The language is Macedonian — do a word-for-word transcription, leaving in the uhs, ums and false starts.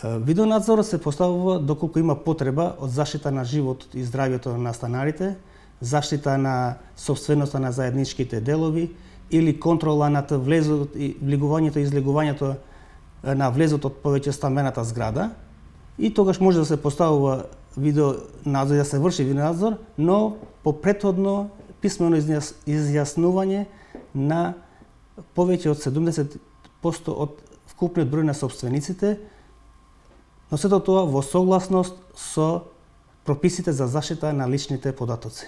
Видеонадзорот се поставува доколку има потреба од заштита на животот и здравјето на станарите, заштита на сопственоста на заедничките делови или контрола над влезот и влегувањето и излегувањето на влезот од повеќе стамбената зграда. И тогаш може да се поставува видео надзор, да се врши видеонадзор, но по претходно писмено изјаснување на повеќе од седумдесет проценти од вкупниот број на сопствениците, но сето тоа во согласност со прописите за заштита на личните податоци.